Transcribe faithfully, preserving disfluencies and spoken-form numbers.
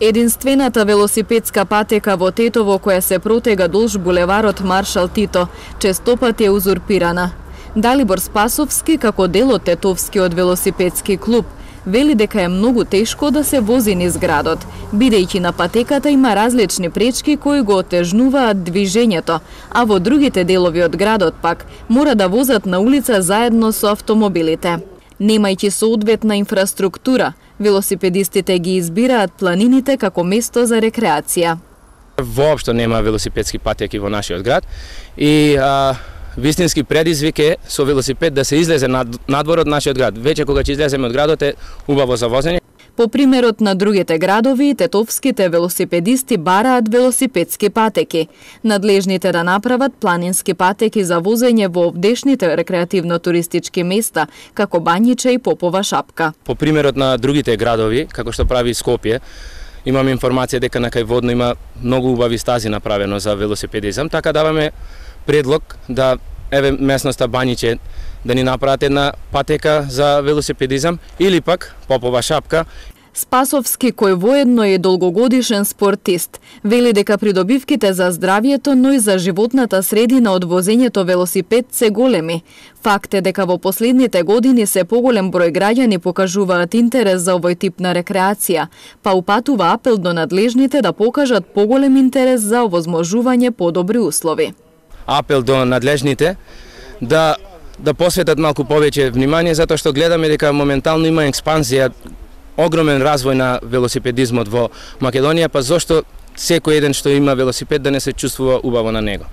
Единствената велосипедска патека во Тетово која се протега долж булеварот Маршал Тито честопат е узурпирана. Далибор Спасовски, како дел од Тетовскиот велосипедски клуб, вели дека е многу тешко да се вози низ градот, бидејќи на патеката има различни пречки кои го отежнуваат движењето, а во другите делови од градот пак мора да возат на улица заедно со автомобилите. Немајќи соодветна инфраструктура, велосипедистите ги избираат планините како место за рекреација. Воопшто нема велосипедски патеки во нашиот град и а, вистински предизвик е со велосипед да се излезе над, надвор од нашиот град. Веќе кога ќе излеземе од градот е убаво за возење. По примерот на другите градови, тетовските велосипедисти бараат велосипедски патеки. Надлежните да направат планински патеки за возење во овдешните рекреативно-туристички места, како Бањиче и Попова шапка. По примерот на другите градови, како што прави Скопје, имам информација дека на Кајводно има многу убави стази направено за велосипедизам, така даваме предлог да еве местноста Бањиче да ни направат една патека за велосипедизам или пак Попова шапка. Спасовски, кој воедно е долгогодишен спортист, вели дека придобивките за здравјето, но и за животната средина од возењето велосипед се големи. Факт е дека во последните години се поголем број граѓани покажуваат интерес за овој тип на рекреација, па упатува апел до надлежните да покажат поголем интерес за овозможување подобри услови. Апел до надлежните да да посветат малку повеќе внимание, затоа што гледаме дека моментално има експанзија, огромен развој на велосипедизмот во Македонија, па зошто секој еден што има велосипед да не се чувствува убаво на него.